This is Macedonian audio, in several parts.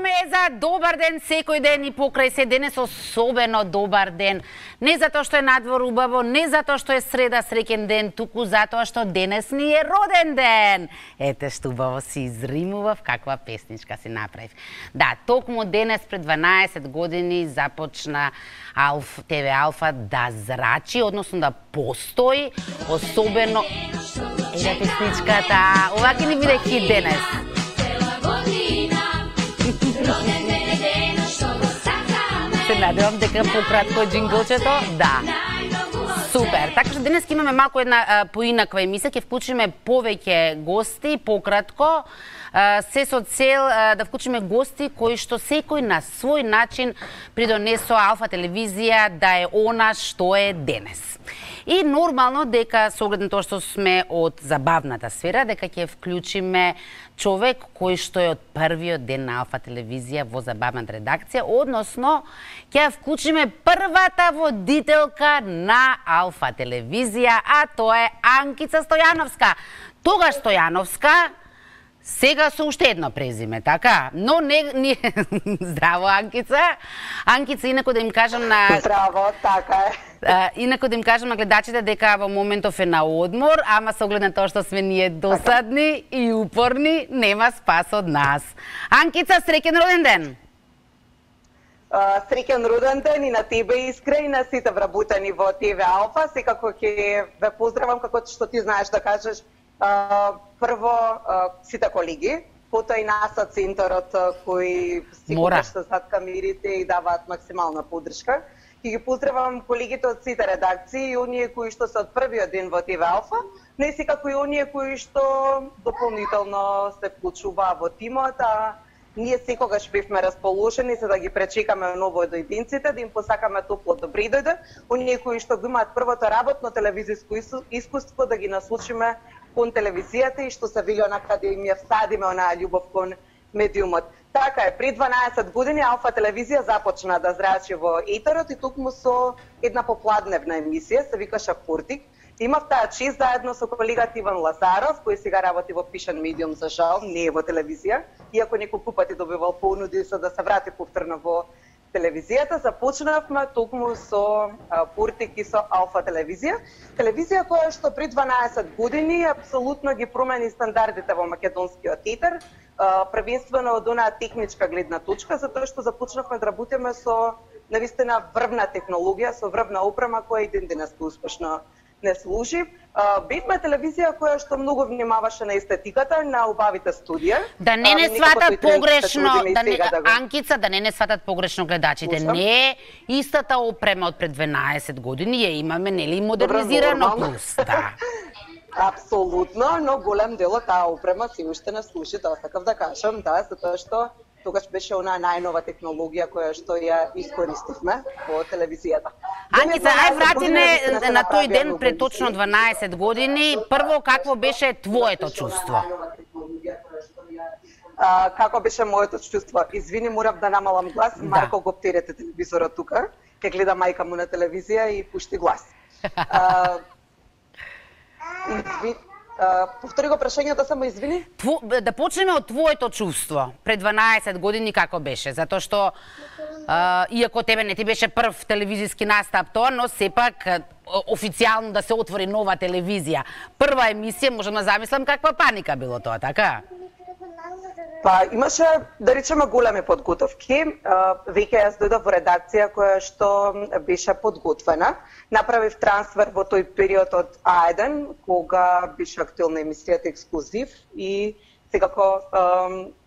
зборуваме за добар ден секој ден и покрај се денес особено добар ден. Не затоа што е надвор убаво, не затоа што е среда среќен ден, туку затоа што денес ни е роден ден. Ете што убаво си изримував, каква песничка си направив. Да, токму денес пред 12 години започна ТВ Алфа да зрачи, односно да постои, особено еде песничката. Ова ќе ни биде хит денес. Се надевам дека пократко джинглчето, да. Супер. Така што денес имаме малку една поинаква емисија, ќе вклучиме повеќе гости, пократко, се со цел да вклучиме гости кои што секој на свој начин придонесоа Алфа телевизија да е она што е денес. И нормално дека со оглед на тоа што сме од забавната сфера, дека ќе вклучиме човек кој што е од првиот ден на Алфа телевизија во забавната редакција, односно ќе вклучиме првата водителка на Алфа телевизија, а тоа е Анкица Стојановска. Тогаш Стојановска, сега со уште едно презиме, така? Но не здраво, Анкица. Анкица, инако да им кажам на... Здраво, така е. Инако да им кажам на гледачите дека во моментов е на одмор, ама со оглед на тоа што сме ние досадни и упорни, нема спас од нас. Анкица, среќен роден ден! Среќен роден ден и на тебе, Искра, и на сите вработени во ТВ Алфа. Секако ќе ве поздравам, како што ти знаеш да кажеш, прво сите колеги, потоа и нас од центарот кои си што зад камерите и даваат максимална поддршка. И ги поздравам колегите од сите редакции и оние кои што се од првиот ден во ТВ Алфа, но и секако и оние кои што дополнително се вклучуваа во тимот, а ние секогаш бевме расположени за да ги пречекаме новоидојденците, да им посакаме топло добри дојде, оние кои што го имаат првото работно телевизиско искуство да ги насочиме кон телевизијата и што се вели онака да им ја всадиме онаа љубов кон медиумот. Така е, пред 12 години Алфа телевизија започна да зрачи во етерот и токму со една попладневна емисија, се викаше Портик. Имав таа чест заедно со колегата Иван Лазаров, кој сега работи во пишан медиум, за жал, не е во телевизија, иако неколку пати добивал понуди за да се врати повторно во телевизијата. Започнавме токму со Портик и со Алфа телевизија. Телевизија која што пред 12 години апсолутно ги промени стандардите во македонскиот етер, првенствено од онаа техничка гледна точка, затоа што започнавме да работиме со навистина врвна технологија, со врвна опрема која и ден денес успешно не служи. Бевме телевизија која што многу внимаваше на естетиката, на убавите студија. Да не сватат погрешно, Анкица, да не сватат погрешно гледачите. Не е истата опрема од пред 12 години, ја имаме нели модернизирано плюс, да. Апсолутно, но голем дел од таа опрема си уште не служи, тоа сакав да кажам, да, затоа што тогаш беше онаа најнова технологија која што ја искористивме во телевизијата. Анкица, ај врати на тој ден пред точно 12 години. Прво, какво беше твоето чувство? Како беше моето чувство? Извини, морав да намалам глас. Марко, го оптерете телевизорот тука. Ке гледа мајка му на телевизија и пушти глас. Повтори го прашањето, само извини. Да почнеме од твоето чувство пред 12 години како беше, затоа што иако тебе не ти беше прв телевизиски настап тоа, но сепак официјално да се отвори нова телевизија. Прва емисија, можам да замислам каква паника било тоа, така? Па имаше, да речеме, големи подготовки. Веќе јас дојдов во редакција која што беше подготвена. Направив трансфер во тој период од А1, кога беше актуелна емисијата Ексклузив и секако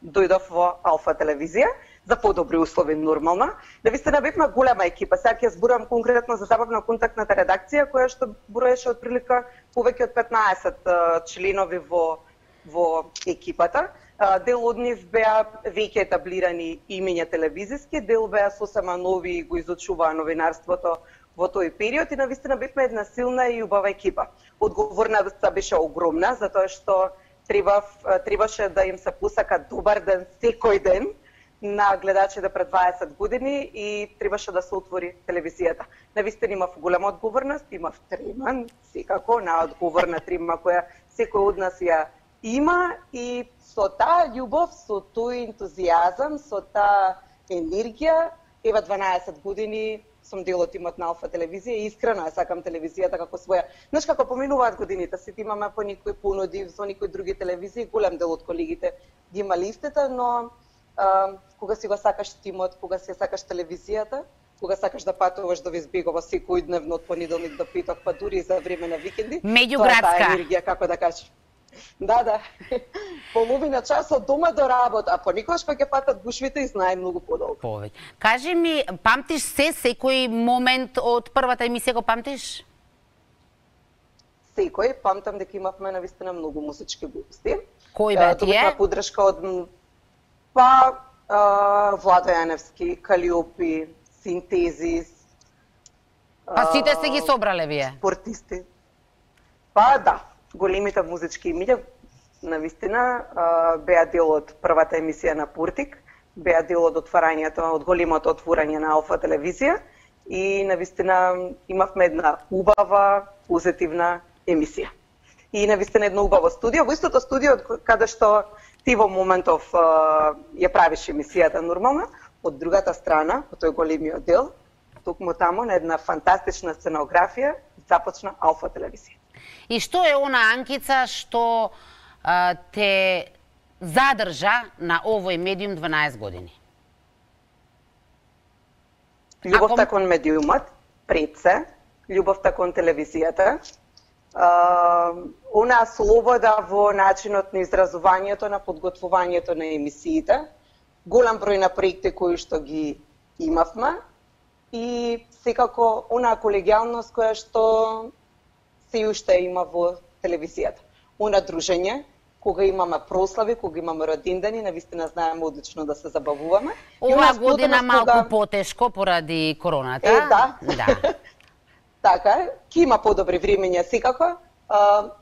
дојдов во Алфа телевизија за подобри услови нормално. Навистина бевме голема екипа. Сега ќе зборувам конкретно за забавно контактната редакција која што броеше отприлика повеќе од 15 членови во екипата. Дел од нив беа веќе етаблирани имиња телевизиски, дел беа сосема нови и го изучуваа новинарството во тој период и навистина бевме една силна и убава екипа. Одговорноста беше огромна, затоа што требаше да им се посака добар ден секој ден на гледачите пред 20 години и требаше да се отвори телевизијата. Навистина имав голема одговорност, имав треман, секако, на одговорна трема која секој од нас ја има и со таа љубов, со тој ентузијазам, со таа енергија, ева 12 години сум дел од тимот на Алфа телевизија и искрено ја сакам телевизијата како своја. Знаеш како поминуваат годините, сите имаме по некои понуди со некои други телевизии, голем дел од колегите ги има листите, но кога си го сакаш тимот, кога си ја сакаш телевизијата, кога сакаш да патуваш до Визбегова секојдневно од понеделник до петок, па дури и за време на викенди, меѓуградска тоа е таа енергија, како да кажеш. Да. Половина час од дома до работа, а понекогаш па ќе патат гушвите и знае многу подолго. Повеќе. Кажи ми, памтиш секој момент од првата емисија го памтиш? Секој, памтам дека имавме навистина многу музички гости. Кој бе тие? Добивме подршка од Владо Јаневски, Калиопи, Синтезис. Па сите се ги собрале вие? Спортисти. Па да, големите музички имиња навистина беа дел од првата емисија на Пуртик, беа дел од отварањето, од големото отворање на Алфа телевизија и навистина имавме една убава, позитивна емисија. И навистина едно убаво студио, во истото студио каде што ти во моментов ја правиш емисијата нормална, од другата страна, по тој големиот дел, токму таму на една фантастична сценографија започна Алфа телевизија. И што е она анкица што те задржа на овој медиум 12 години? Љубовта кон медиумот, пред се, љубовта кон телевизијата, онаа слобода во начинот на изразувањето, на подготвувањето на емисиите, голем број на проекти кои што ги имавме и секако онаа колегијалност која што се уште има во телевизијата. Она дружење, кога имаме прослави, кога имаме родендени, навистина знаеме одлично да се забавуваме. Ова година малку потешко поради короната. Да. Така, ќе има подобри времења секако.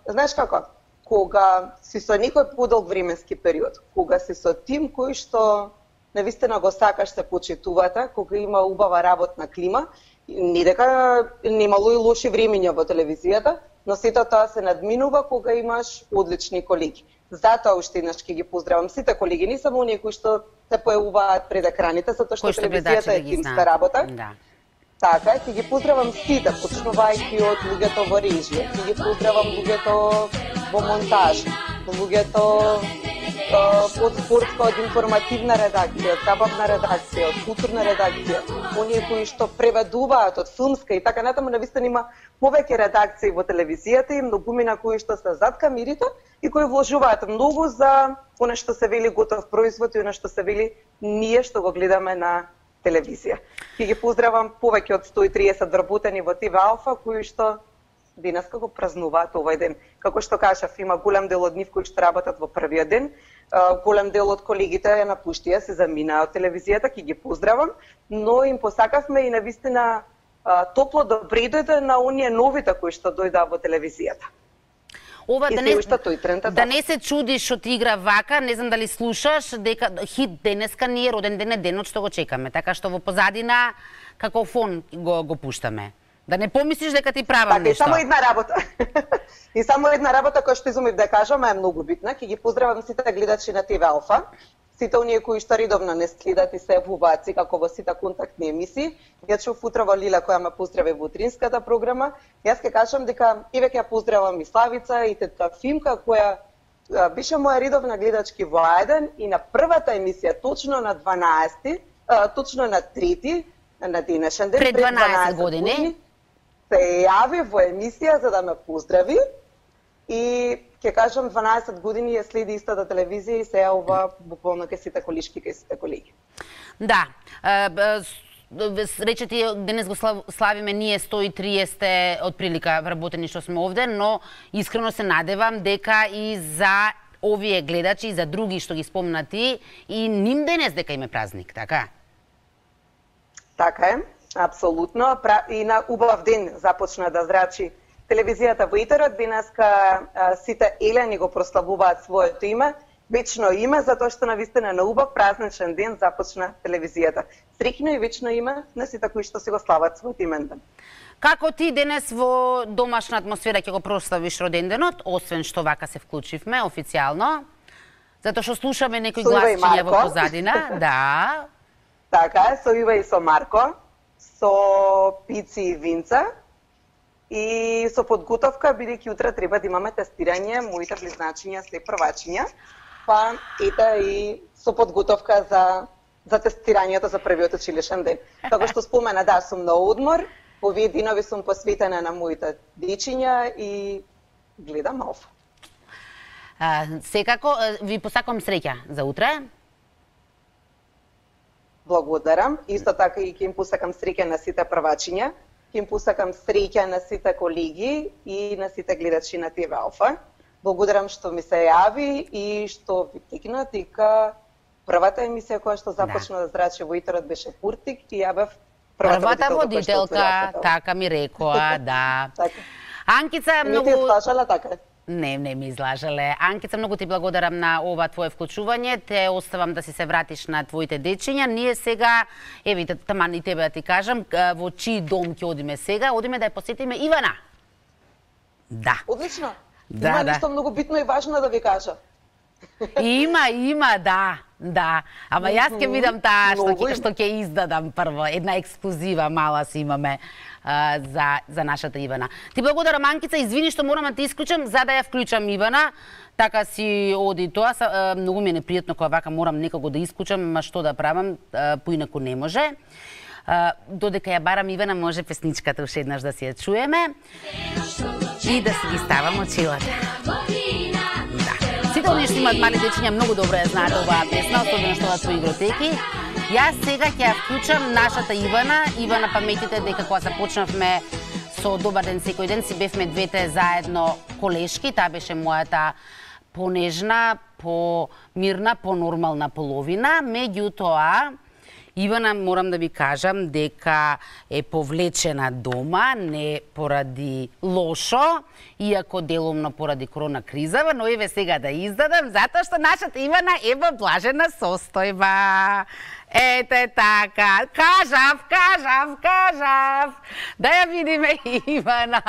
Знаеш како? Кога си со некој подолг временски период, кога си со тим кој што навистина го сакаш, се почитувате, кога има убава работна клима, не дека немало и лоши времења во телевизијата, но сето тоа се надминува кога имаш одлични колеги. Затоа уште еднаш ќе ги поздравам сите колеги, не само оние кои што се појавуваат пред екраните, затоа што телевизијата е тимска работа. Да. Така, ќе ги поздравам сите, почнувајќи од луѓето во режија, ќе ги поздравам луѓето во монтаж, луѓето од спортска, од информативна редакција, од забавна редакција, од културна редакција, оние кои што преведуваат од филмска и така натаму, навистина има повеќе редакции во телевизијата и многумина кои што се зад камерите и кои вложуваат многу за она што се вели готов производ и она што се вели ние што го гледаме на телевизија. Ќе ги поздравам повеќе од 130 вработени во ТВ Алфа кои што денеска го празнуваат овој ден. Како што кажав, има голем дел од нив кои што работат во првиот ден, голем дел од колегите ја напуштија, се заминаа од телевизијата, ќе ги поздравам, но им посакавме и навистина топло добре дојде на оние новите кои што дојдаа во телевизијата. Ова да не се чудиш што ти игра вака, не знам дали слушаш, дека хит денеска ни е роден ден, денот што го чекаме, така што во позадина како фон го пуштаме. Да не помислиш дека ти правам нешто. Така, и само една работа. И само една работа која што изумив да кажам, е многу битна. Ќе ги поздравам сите гледачи на ТВ Алфа, сите оние кои што редовно не следат и се јавуваат како во сите контактни емисии. Ја чув утрово Лила која ме поздрави во утринската програма. Јас ќе кажам дека еве ќе ја поздравам и Славица и тета Фимка која беше моја редовна гледачки во Ајден и на првата емисија точно на 12, точно на 3 на денешен ден пред 12 години се јави во емисија за да ме поздрави и ќе кажам 12 години ја следи истата телевизија и се јавува буквално кај сите колишки, кај сите колеги. Да, рече ти денес го славиме ние 130 отприлика вработени што сме овде, но искрено се надевам дека и за овие гледачи и за други што ги спомна ти и ним денес дека им е празник, така? Така е. Апсолутно, и на убав ден започна да зрачи телевизијата во етерот. Денеска сите елени го прославуваат своето име, вечно име, затоа што навистина на убав празничен ден започна телевизијата. Среќно и вечно име на сите кои што си го слават својот имендан. Како ти денес во домашна атмосфера ќе го прославиш роденденот, освен што вака се вклучивме официјално? Затоа што слушаме некои гласчиња во позадина. Да. Така е, со Ива и со Марко, со пици и винца и со подготовка, бидејќи утре треба да имаме тестирање, моите близначиња се првачиња, па ете и со подготовка за тестирањето за првиот училишен ден. Како што спомена, да, сум на одмор, овие денови сум посветена на моите дечиња и гледам ов. Секако, ви посакувам среќа за утре. Благодарам. Исто така и ќе им посакам среќа на сите првачиња, ќе им посакам среќа на сите колеги и на сите гледачи на ТВ Алфа. Благодарам што ми се јави и што ви текна дека првата емисија која што започна да зрачи во етерот беше Пуртик и ја бев првата водителка, така ми рекоа, да. Анкица, многу... Не ти излажала така? Не ми излажале. Анкица, многу ти благодарам на ова твое вклучување. Те оставам да си се вратиш на твоите дечиња. Ние сега, еви, таман и тебе да ти кажам, во чиј дом ќе одиме сега? Одиме да ја посетиме Ивана. Да. Одлично. Има нешто многу битно и важно да ви кажа. Има, да. Ама јас ќе видам таа што ќе издадам прво. Една ексклузива мала си имаме за нашата Ивана. Ти благодарам, Анкица, извини што морам да ти исклучам за да ја вклучам Ивана. Така си оди тоа. Многу ми е непријатно кога вака морам некако да исклучам, ама што да правам, поинаку не може. Додека ја барам Ивана, може песничката уште еднаш да си ја чуеме и да си ги ставам очилата. Сите оние што имаат мали дечиња многу добро ја знаат оваа песна, особено што во игротеки. Јас сега ќе ја вклучам нашата Ивана. Ивана, паметите дека кога започнавме со Добар ден секој ден, си бевме двете заедно колешки. Таа беше мојата понежна, помирна, понормална половина. Меѓутоа, Ивана, морам да ви кажам дека е повлечена дома, не поради лошо, иако делумно поради корона кризава, но еве сега да издадам, затоа што нашата Ивана е во блажена состојба. Ете така, кажав. Да ја видиме Ивана.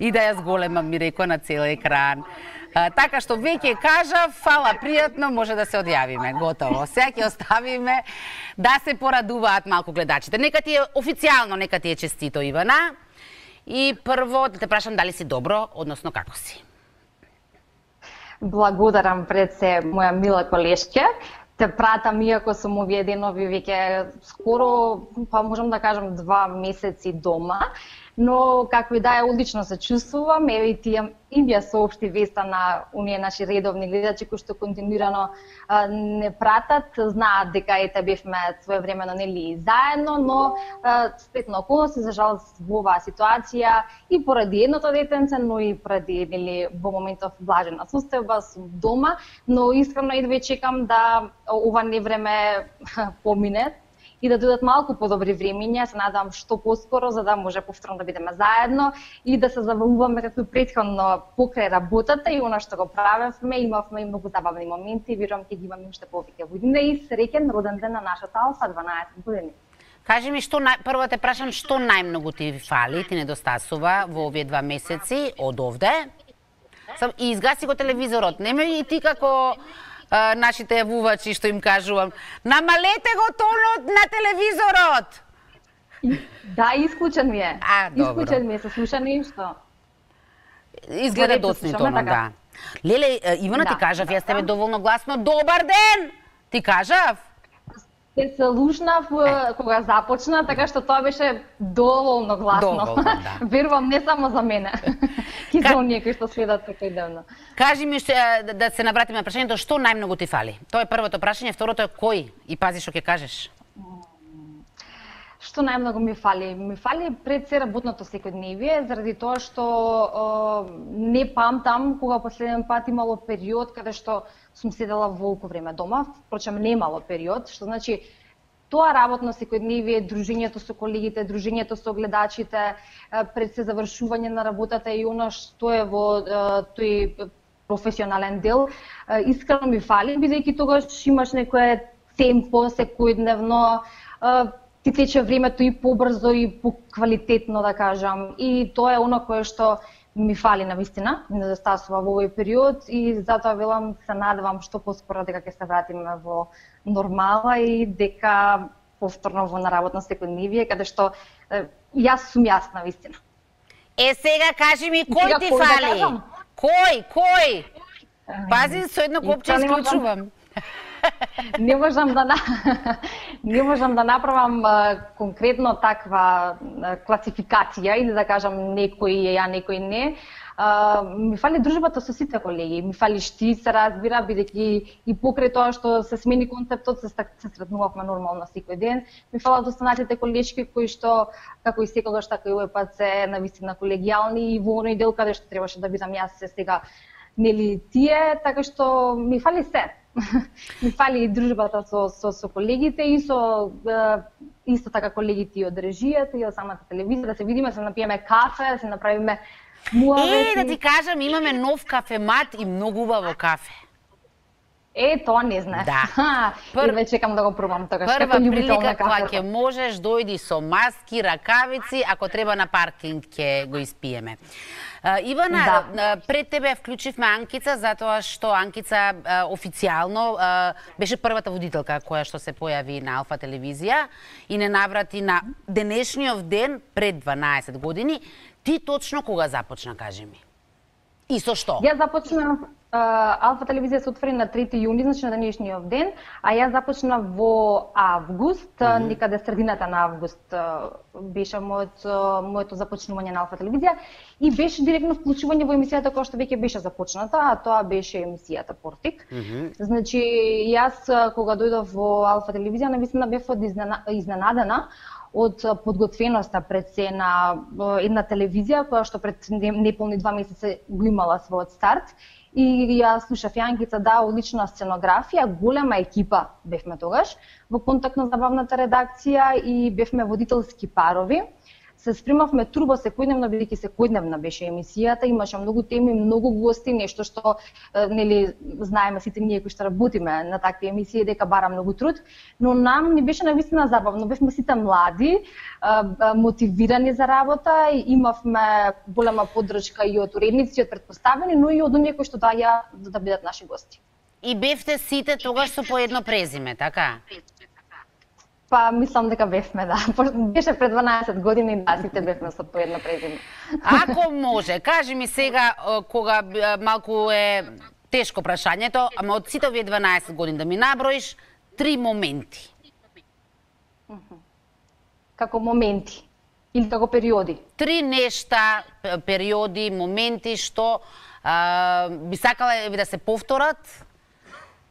И да ја зголемам, ми рекоа на цел екран. Така што веќе кажав, фала, пријатно, може да се одјавиме, готово. Сега ќе оставиме да се порадуваат малку гледачите. Нека ти е официјално, нека ти е честито, Ивана. И прво да те прашам дали си добро, односно како си. Благодарам пред се, моја мила колешке. Те пратам, иако сум овие денови веќе скоро, па можам да кажам 2 месеци дома. Но како и да е, одлично се чувствувам. Еве и ја соопшти веста на оние наши редовни гледачи кои што континуирано не пратат, знаат дека ете бевме своевремено нели заедно, но спетно околности за жалост во оваа ситуација и поради едното детенце, но и поради нели во моментов блажена состојба сум дома, но искрено едва чекам да ова невреме помине и да дојдат малку подобри времиња, се надам што поскоро, за да може повторно да бидеме заедно и да се забавуваме како претходно покрај работата и она што го правевме, имавме и многу забавни моменти, верувам ќе ги имаме уште повеќе години и среќен роден ден на нашата Алфа, 12 години. Кажи ми, прво те прашам, што најмногу ти фали, ти недостасува во овие 2 месеци од овде? И изгаси го телевизорот, немој и ти како нашите јавувачи што им кажувам, намалете го тонот на телевизорот! Да, исклучен ми е. Добро. Исклучен ми е, се слуша нешто. Изгледа доцни тонот, да. Леле, Ивана, ти кажав, јас тебе доволно гласно, добар ден! Ти кажав? Се лушнав кога започна, така што тоа беше доволно гласно. Доволно, да. Верувам, не само за мене. И за оние кои што следат секојдневно. Кажи ми, да се навратиме на прашањето, што најмногу ти фали? Тоа е првото прашање, второто е кој? И пази што ќе кажеш. Што најмногу ми фали? Ми фали пред се работното секојдневие, заради тоа што не памтам кога последен пат имало период каде што сум седела волку време дома, впрочем немало период, што значи тоа работно секојдневие, дружењето со колегите, дружењето со гледачите, пред се завршување на работата и она што е во тој професионален дел, искрено ми фали, бидејќи тогаш имаш некое темпо секојдневно, си тече времето и побрзо и поквалитетно, да кажам. И тоа е оно кое што ми фали навистина, ми недостасува во овој период и затоа велам се надевам што поскоро дека ќе се вратиме во нормала и дека повторно во наработно секојдневие, каде што јас сум јас навистина. Сега кажи ми кој ти фали? Кој? Пази, со едно копче исклучувам. Не можам да направам конкретно таква класификација или да кажам некој е ја, некој не. Ми фали дружбата со сите колеги, ми фалиш ти, се разбира, бидејќи и покрај тоа што се смени концептот, се сретнувавме нормално секој ден. Ми фалат останатите колешки кои што, како и секогаш, така и овој пат се навистина колегијални и во оној дел каде што требаше да бидам јас сега, нели тие, така што ми фали се. Ми фали и дружбата со колегите и со исто така колегите и од режијата и од самата телевизија, да се видиме, се напиеме кафе, да се направиме муавети. Да ти кажам, имаме нов кафемат и многу убаво кафе. Тоа не знаеш. Да. И веќе чекам да го пробам тогаш. Прва прилика кога ќе можеш, дојди со маски, ракавици, ако треба на паркинг ќе го испиеме. Ивана, пред тебе вклучивме Анкица, затоа што Анкица официјално беше првата водителка која што се појави на Алфа телевизија и не наврати на денешниот ден пред 12 години. Ти точно кога започна, кажи ми? И со што? Јас започнав, Алфа телевизија се отвори на 3 јуни, значи на денешниот ден, а јас започнав во август, некаде средината на август беше моето започнување на Алфа телевизија и беше директно вклучување во емисијата која што веќе беше започната, а тоа беше емисијата Портик. Значи, јас кога дојдов во Алфа телевизија, навистина бев изненадена од подготвеноста пред се на една телевизија која што пред неполни 2 месеци го имала својот старт. И ја слушав Јанкица, да, одлична сценографија, голема екипа бевме тогаш, во контактно-забавната редакција и бевме водителски парови. Се спремавме турбо секојдневно, бидејќи секојдневна беше емисијата, имаше многу теми, многу гости, нешто што нели знаеме сите ние кои што работиме на такви емисии дека бара многу труд, но нам ни беше навистина забавно, бевме сите млади, мотивирани за работа и имавме голема поддршка и од уредници, од претпоставени, но и од оние кои што доаѓа да бидат наши гости. И бевте сите тогаш со по едно презиме, така? Па, мислам дека бевме, да. Беше пред 12 години, да, сите бевме со по едно презиме. Ако може, кажи ми сега, кога малку е тешко прашањето, ама од сите овие 12 години да ми наброиш 3 моменти. Како моменти? Или како периоди? 3 нешта, периоди, моменти што би сакала да се повторат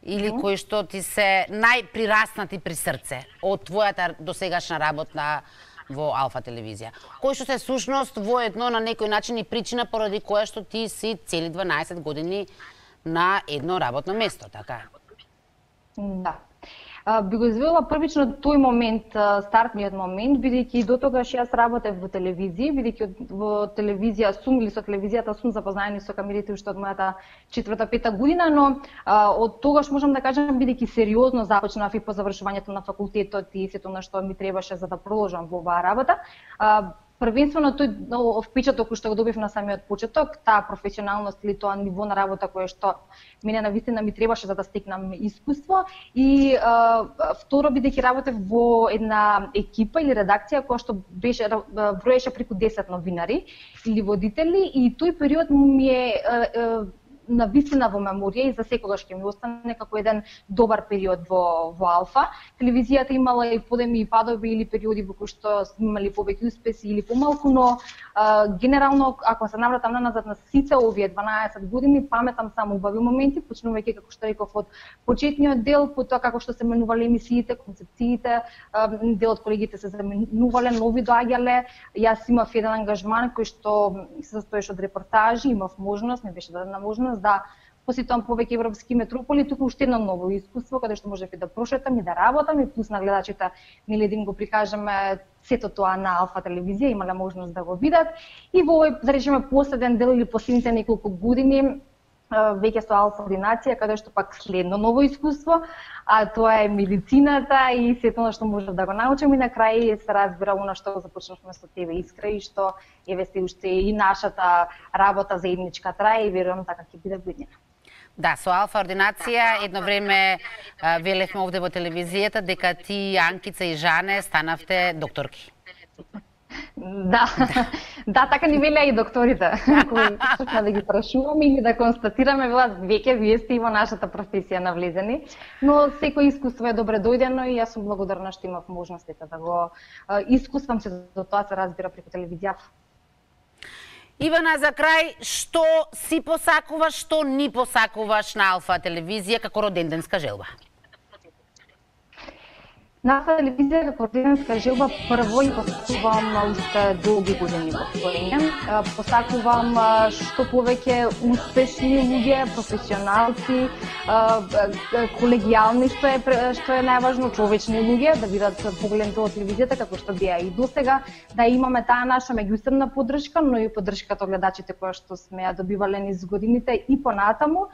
или кои што ти се најприраснати при срце од твојата досегашна работа во Алфа телевизија? Кои што се сушност воедно на некој начин и причина поради која што ти си цели 12 години на едно работно место, така? Да. Би го извела првично тој момент, стартниот момент, бидејќи до тогаш јас работев во телевизија, бидејќи во телевизија сум или со телевизијата сум запознаени со камерите уште од мојата 4-5 година, но од тогаш можам да кажам бидејќи сериозно започнав и по завршувањето на факултетот и сето на што ми требаше за да продолжам во оваа работа. Првенствено тој впечаток што го добив на самиот почеток, таа професионалност или тоа ниво на работа кое што мене навистина ми требаше за да стекнам искуство и второ бидејќи работев во една екипа или редакција која што беше броеше преку 10 новинари или водители и тој период ми е навистина во меморија и за секогаш ќе ми остане како еден добар период во Алфа. Телевизијата имала и подеми и падови или периоди во кои што сме имали повеќе успеси или помалку, но генерално ако се навратам назад на сите овие 12 години, паметам само убави моменти, почнувајќи како што реков од почетниот дел, потоа како што се менувале емисиите, концепциите, дел од колегите се заменувале, нови доаѓале. Јас имав еден ангажман кој што се состоеше од репортажи, имав можност, ми беше дадена можност да посетувам повеќе европски метрополи, туку уште едно ново искуство каде што можев и да прошетам и да работам и плюс на гледачите нели да им го прикажеме сето тоа на Алфа телевизија, имале можност да го видат. И во овој, да речеме, последен дел или последните неколку години веќе со алфа ординација, каде што пак следно ново искуство, а тоа е медицината и сето што можев да го научам и на крај се разбира она што го започнавме со тебе, Искра, и што еве се уште и нашата работа заедничка трае и верувам така ќе биде буднина. Да, со алфа ординација едно време велевме овде во телевизијата дека ти, Анкица и Жане станавте докторки. Да, да, така ни велеа и докторите, кои почнаа да ги прашуваме или да констатираме, велат, веќе вие сте и во нашата професија навлезени, но секој искуство е добре дојдено и јас сум благодарна што имав можностите да го искуствам се, до тоа се разбира преку телевизијата. Ивана, за крај, што си посакуваш, што ни посакуваш на Алфа телевизија како роденденска желба? На Алфа телевизија како роденденска желба прво и посакувам уште долги години постоење. Посакувам што повеќе успешни луѓе, професионалци, колегијални, што е најважно, човечни луѓе, да бидат погледнати од телевизијата како што беа и досега, да имаме таа наша меѓусебна поддршка, но и поддршката од гледачите која што сме ја добивале низ годините и понатаму.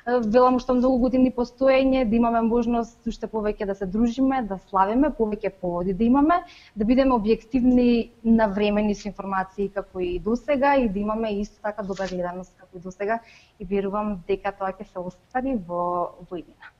Велам уште многу години постоење, да имаме можност уште повеќе да се дружиме, да славиме, повеќе поводи да имаме, да бидеме објективни, навремени со информации како и досега и да имаме исто така добра гледаност како и досега и верувам дека тоа ќе се оствари во иднина.